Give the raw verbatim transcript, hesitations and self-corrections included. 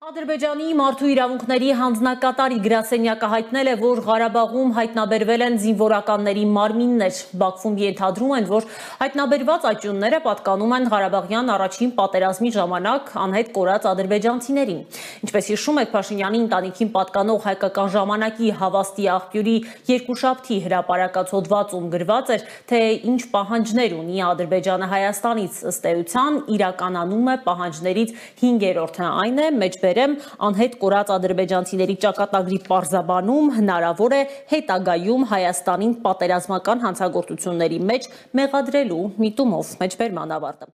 Ադրբեջանի մարդու իրավունքների հանձնակատարի գրասենյակը հայտնել է, որ Ղարաբաղում հայտնաբերվել են զինվորականների մարմիններ։ Բաքվում ենթադրում են, որ հայտնաբերված աճյունները պատկանում են Ղարաբաղյան առաջին պատերազմի ժամանակ անհետ կորած ադրբեջանցիներին։ Ինչպես հիշում եք, Փաշինյանի ընտանիքին պատկանող հայկական ժամանակի հավաստի աղբյուրի երկուշաբթի հրապարակած հոդվածում գրված էր, թե ինչ պահանջներ ունի Ադրբեջանը Հայաստանից, ըստ էության իրականանում է պահանջներից հինգերորդը, այն է մեջբերեմ անհետ կորած ադրբեջանցիների ճակատագրի պարզաբանում հնարավոր է հետագայում Հայաստանին պատերազմական հանցագործությունների մեջ մեղադրելու միտումով։ Մեջբերման ավարտը։